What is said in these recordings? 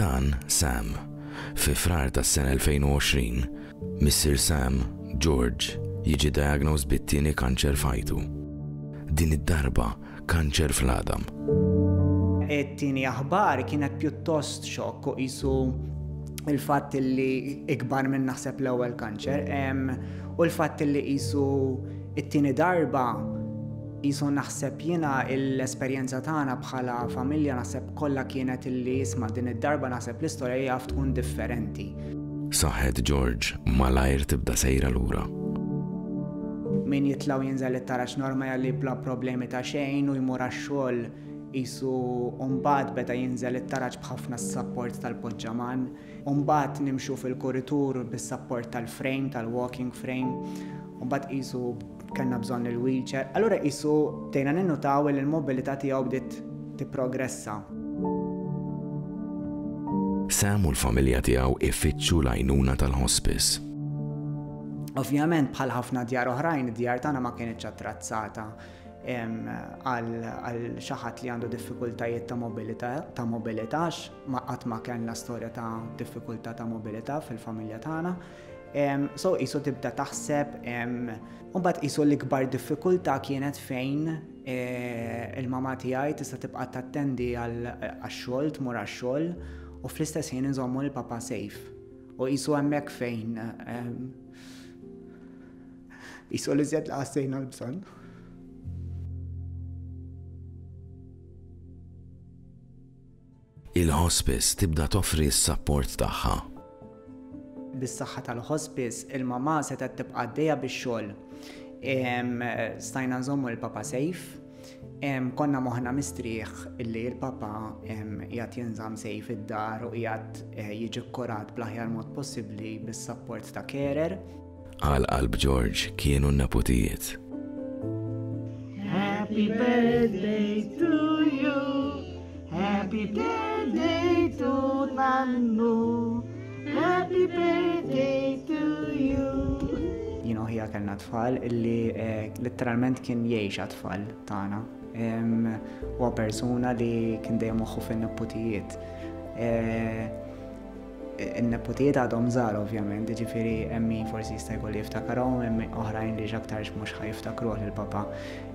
Dan Sam. Fi Frar tas-sena 2020, missier Sam, George, jiġi diagnosed bit-tieni kanċer f'ħajtu. Din id-darba kanċer fl-għadam. It-tieni aħbar kienet pjuttost xokk u qisu il-fatt li ikbar minn naħseb l-ewwel kanċer u l-fatt li qisu it-tieni darba qisu naħseb jiena l-esperjenza tagħna bħala familja naħseb kollha kienet illi isma' din id-darba naħseb l-istorja jaf tkun differenti. Saħħet George malajr tibda sejra lura. Min jitla' u jinżel it-taraġ normali bla problemi ta' xejn u jmur għax-xogħol qisu u mbagħad beda jinżel it-taraġ b'ħafna sapport tal-poġġaman. U mbagħad nimxu fil-kuritur bis-sapport tal-frame, tal-walking frame, u mbagħad qisu kellna bżonn il-wheelchair. Allura qisu bdejna ninnutaw li l-mobilità tiegħu bdiet tipprogressa. Sam u l-familja tiegħu ifittxu l-għajnuna tal-hospice. Ovvjament bħal ħafna djar oħrajn, id-djar tagħna ma kinitx attrazzata għal xi ħadd li għandu diffikultajiet ta' mobilità, ta' mobilità ma qatt ma kellna storja ta' diffikultà ta' mobilità fil-familja tagħna. So qisu tibda taħseb, u mbagħad qisu l-ikbar diffikultà kienet fejn e, il-mama tiegħi tista' tibqa' tattendi għax-xogħol, tmur għax-xogħol u fl-istess ħin inżommu l-papa safe. U qisu hemmhekk fejn qisu li żjed li ħassejna l-bżonn. Il-hospice tibda toffri s-sapport tagħha. Bis-saħħa tal-hospice, il-mamà setgħet tibqa' għaddejja bix-xogħol. Stajna nżommu l-papa safe. Konna moħħna mistrieħ illi l-papa qiegħed jinżamm safe id-dar u qiegħed eh, jiġi kkurat bl-aħjar mod possibbli bis-sapport ta' carer. Għal qalb George kienu n-neputijiet. Happy birthday to you. Happy birthday to Nannu. Happy birthday to you. Jien u ħija kellna tfal illi eh, letteralment kien jgħix għat-tfal tagħna. Huwa persuna li kien dejjem moħħu fin-neputijiet. Eh, In-neputijiet għadhom żgħar ovvjament, jiġifieri hemm min forsi jista' jkollu jiftakarhom, hemm oħrajn li x'aktarx mhux ħa jiftakruh lil papà.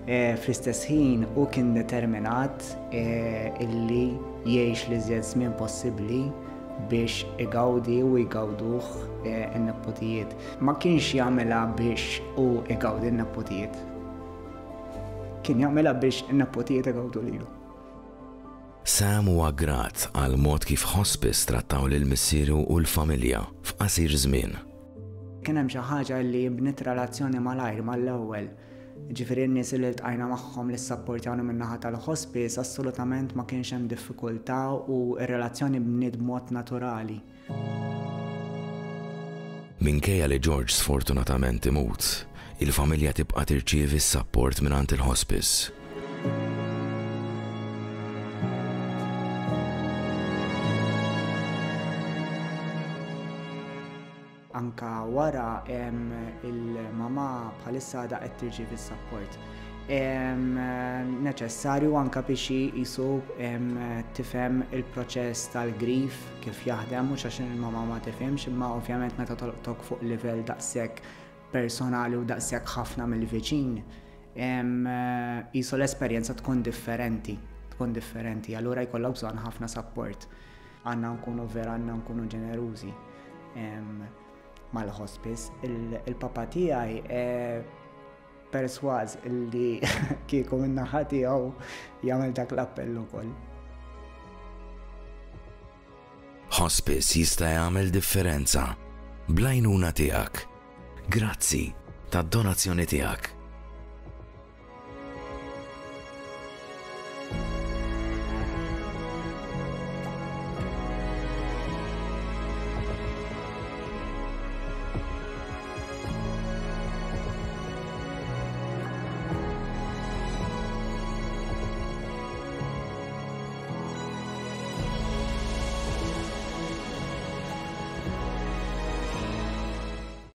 Fl-istess ħin hu kien determinat illi jgħix l-iżjed żmien possibbli biex igawdi u jgawduh in-neputijiet. Ma kienx jagħmilha biex hu igawdi n-neputijiet. Kien jagħmilha biex in-neputijiet igawdu lilu. Sam huwa grat għall-mod kif Hospice trattaw lil missieru u l-familja f'qasir żmien. Kien hemm xi ħaġa li bniet relazzjoni malajr mal-ewwel. Jiġifieri n-nies li ltqajna magħhom li ssapportjawna min-naħa tal-hospice assolutament ma kienx hemm diffikultà u r-relazzjoni bniet b'mod naturali. Minkejja li George sfortunatament imut, il-familja tibqa' tirċievi s-sapport mingħand il-hospice. Anka wara il-mama bħalissa għadha qed tirċievi s-sapport neċessarju anka biex hi qisu tifhem il-proċess tal-grief kif jaħdem mhux għax il-mama ma tifhimx imma ovvjament meta tolqtok fuq livell daqshekk personali u daqshekk ħafna mill-viċin qisu l-esperjenza tkun differenti, tkun differenti, allura jkollok bżonn ħafna sapport. Għandna nkunu vera għandna nkunu ġenerużi mal-hospice. Il-papa tiegħi eh, persważ illi kieku min-naħa tiegħu jagħmel dak l-appell ukoll. Hospice jista' jagħmel differenza bl-għajnuna tiegħek. Grazzi tad-donazzjoni tiegħek.